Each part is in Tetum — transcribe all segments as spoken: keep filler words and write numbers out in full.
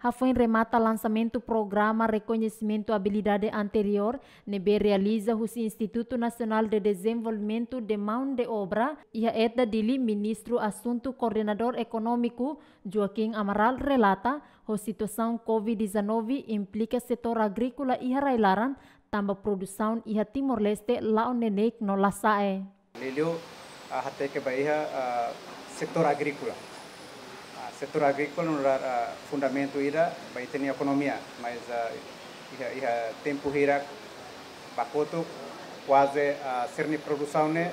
Hafoin remata lansamentu programa rekoñesimentu abilidade anteriór ne'ebé realiza husi Instituto Nacional de Desenvolvimento de Mão de Obra iha EDDA Dili, Ministru Asuntu Koordenadór Ekonómiku, Joaquim Amaral, relata ho situasaun covid dezanove implika setór agríkola iha rai-laran, tanba produsaun iha Timor-Leste la'o neineik no la sa'e. Liuliu, ah, hateke ba iha, ah, setór agríkola. Ah, setór agríkola nu'udar, ah, fundamentu ida ba ita-nia ekonomia, mas, ah, iha, iha tempu hirak ba kotuk kuaze, ah, sira-nia produsaun ne'e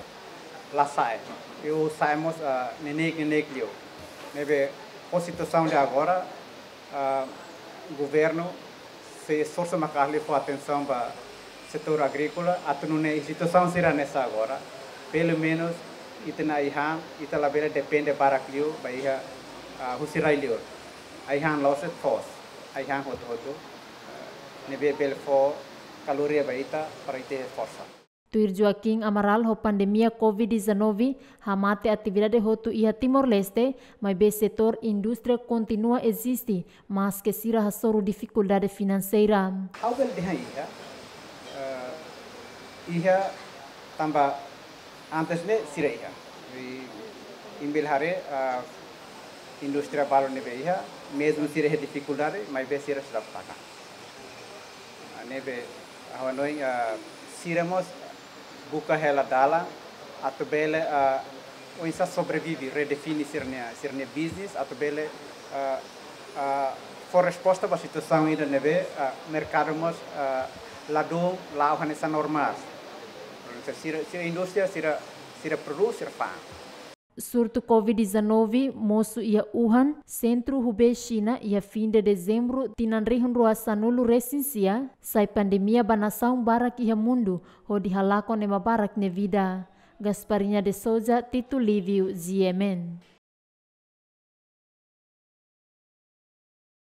la sa'e. I sa'e mós, ah, neineik, neineik liu. Ne'ebé ho situasaun de agora, ah, governu sei esforsu maka'as liu fó atensaun ba setór agríkola, atu nune'e situasaun sira hanesan agora, pelumenus ita-nia ai-han, ita labele depende barak liu ba iha, ah, husi rai-liur. Ai-han la'ós de'it foos, ai-han hotu-hotu, ah, ne'ebé bele fó kaloria ba ita para ita iha forsa. Tuir Joaquim Amaral, ho pandemia covid dezanove hamate atividade hotu iha Timor-Leste, maibé setór indústria kontinua eziste, maske sira hasoru difikuldade finanseira. Ha'u bele dehan iha, eh, iha tanba antes ne'e sira iha. I, imi bele haree, eh, indústria balu ne'ebé iha, mezmu sira iha difikuldade, maibé sira sei la taka. Ah, ne'ebé, ha'u hanoin, ah, sira mós buka hela dalan atu bele, ah, oinsá sobrevive, redefine sira-nia, sira-nia business atu bele, ah, ah, fó resposta ba situasaun ida ne'ebé, ah, merkadu mós, ah, ladún la'o hanesan normál. Sira, sira indústria, sira, sira prodús, sira fa'an. Surtu covid dezanove mosu iha Wuhan, sentru Hubei, Xina, iha fin de dezembru tinan rihun rua sanulu resin sia, sai pandemia ba nasaun barak iha mundu, hodi halakon ema barak nia vida. Gasparinha de Souza, Tito Livio, G M N.